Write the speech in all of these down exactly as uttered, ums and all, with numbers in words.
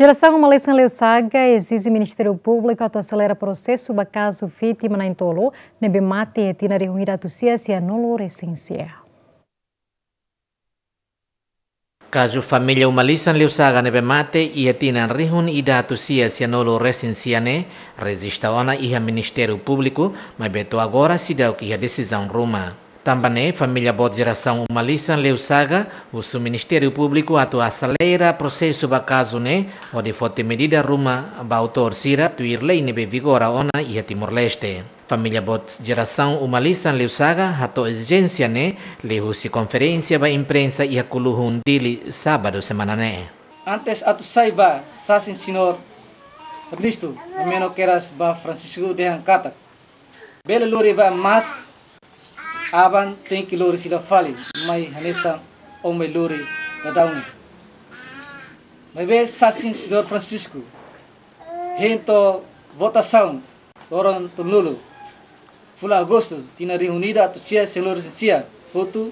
Jerasaun Uma Lisan Leusaga ezije Ministériu Públiku atu aselera prosesu ba kazu vítima na'in-tolu ne'ebé mate iha tinan rihun ida atus sia sianulu resin sia. Kazu família Uma Lisan Leusaga ne'ebé mate iha tinan rihun ida atus sia sianulu resin sia ne'e rejista ona iha Ministériu Públiku, maibé to'o agora seidauk iha desizaun ruma. Tanba ne'e, família boot Jerasaun Uma Lisan Leusaga husu Ministériu Públiku atu aselera prosesu ba kazu ne'e, hodi foti medida ruma ba autór sira tuir lei ne'ebé vigora ona iha Timor-Leste. Família boot Jerasaun Uma Lisan Leusaga hato'o ezijénsia ne'e liuhusi konferénsia ba imprensa iha Kuluhun, Dili, sábadu semana ne'e. Antes atu sai ba sasin señór Ernesto, ha'u hameno kedas ba Francisco dehan katak bele lori bá, mas aban tenke lori fila fali, mai hanesan ó mai lori daudaun ne'e. Maibé sasin señór Francisco hein to'o votasaun loron tolunulu fulan Agostu tinan rihun ida atus sia sianulu resin sia hotu,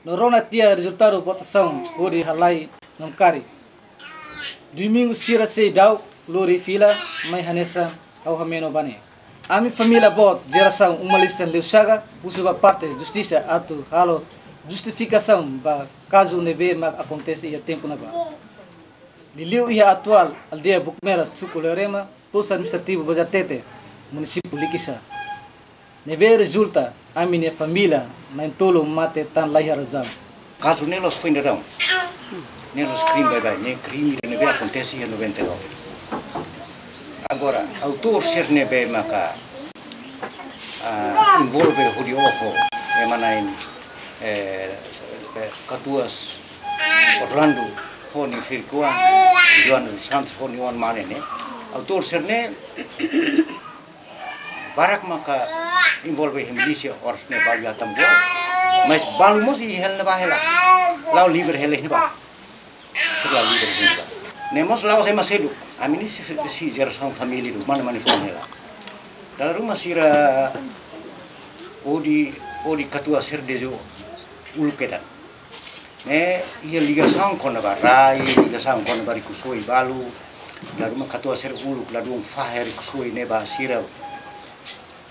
no rona tiha rezultadu votasaun hodi halai namkari. Domingu sira seidauk lori fila, mai hanesan ha'u hameno ba ne'e. Ami família boot Jerasaun Uma Lisan Leusaga husu ba parte justisa atu halo justifikasaun ba kazu ne'ebé mak akontese iha tempu ne'ebá. Liuliu iha atuál aldeia Bukmera, suku Leorema, postu administrativu Bazartete, munisípiu Likisá, ne'ebé rezulta ami-nia família na'in-tolu mate tan la iha razaun. Kazu ne'e la'ós foin daudaun. Ne'e la'ós krime baibain, ne'e krime ne'ebé akontese iha noventa e nove. Agora, autór sira ne'ebé maka, ah, envolve hodi oho, ema na'in, eh, eh, katuas Orlando ho nia ferik-oan, Joana dos Santos ho nia oan-mane ne'e. Autór sira ne'e barak maka envolve iha milísia, oras ne'e balu iha Tambua. Mas balu mós iha hela ne'ebá hela. La'o livre hela iha ne'ebá. Sira la'o livre iha ne'ebá. Ne'e mós la'ós ema seluk. Ami ne'e sei, sei jerasaun família duni, mane-mane foun hela. Dala ruma sira hodi, hodi katuas sira dezeñu uluk kedan. Ne'e iha ligasaun kona-ba rai, ligasaun kona-ba rikusoin balu. Dala ruma katuas sira uluk ladún fahe rikusoin ne'e ba sira.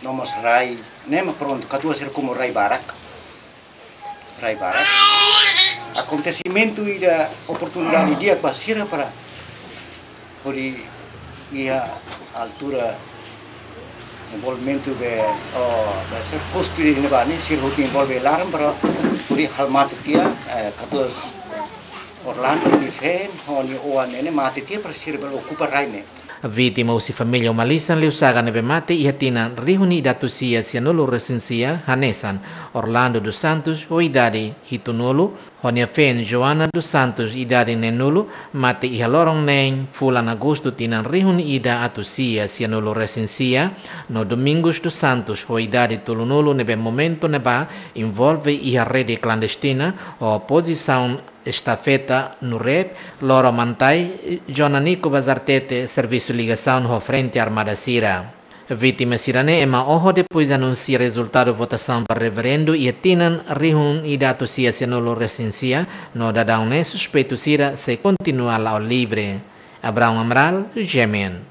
No mós rai, ne'e mak prontu, katuas sira komu rai barak. Rai barak. Akontesimentu ida oportunidade di'ak ba sira para hodi iha altura envolvimentu be, oh, be sira postu iha ne'ebá ne'e, sira hotu envolve laran para hodi halo mate tiha, eh, katuas Orlando nia feen, ho nia oan ne'e ne'e mate tiha para sira bele okupa rai ne'e. Vítima husi família Uma Lisan Leusaga ne'ebé mate iha tinan rihun ida atus sia sianulu resin sia, hanesan Orlando dos Santos, ho idade hitunulu, ho nia feen Joana dos Santos, idade neenulu, mate iha loron neen fulan Agostu tinan rihun ida atus sia sianulu resin sia, no Domingos dos Santos, ho idade tolunulu, ne'ebé momentu ne'ebá envolve iha rede klandestina, ho pozisaun estafeta no rep, loro mantai, Jonanico Bazartete, servisu ligasaun ho frente armada sira. Vítima sira-ne'e ema oho depois anunsia rezultadu votasaun ba referendu iha tinan rihun ida atus sia sianulu resin sia, no daudaun ne'e suspeitu sira sei kontinua la'o livre. Abraão Amaral, G M N.